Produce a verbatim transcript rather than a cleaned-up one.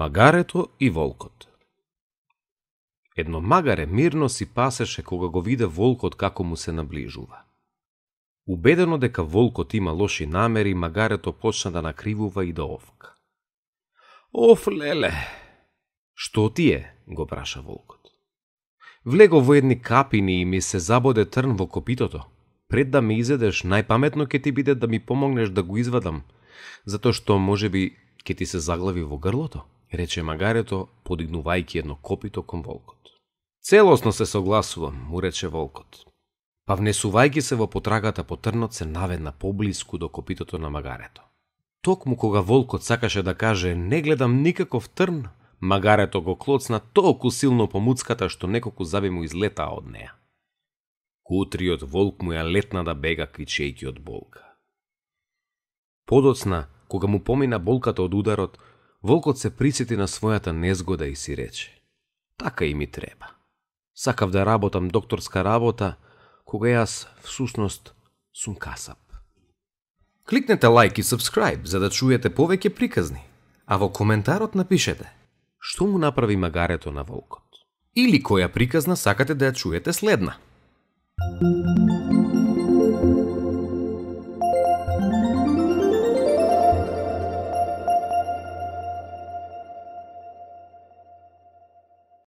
Магарето и волкот. Едно магаре мирно си пасеше кога го виде волкот како му се наближува. Убедено дека волкот има лоши намери, магарето почна да накривува и да овка. Оф, леле! Што ти е? Го праша волкот. Влего во едни капини и ми се забоде трн во копитото. Пред да ме изедеш, најпаметно ќе ти биде да ми помогнеш да го извадам, затоа што можеби ќе ти се заглави во грлото, рече магарето, подигнувајќи едно копито кон волкот. Целосно се согласувам, му рече волкот. Па внесувајќи се во потрагата по трнот, се наведна поблиску до копитото на магарето. Токму кога волкот сакаше да каже не гледам никаков трн, магарето го клоцна толку силно по муцката што неколку заби му излетаа од неа. Кутриот волк му ја летна да бега кричејќи од болка. Подоцна, кога му помина болката од ударот, волкот се присети на својата незгода и си рече: така и ми треба. Сакав да работам докторска работа, кога јас всушност сум касап. Кликнете лайк и subscribe за да чуете повеќе приказни, а во коментарот напишете што му направи магарето на волкот или која приказна сакате да ја чуете следна.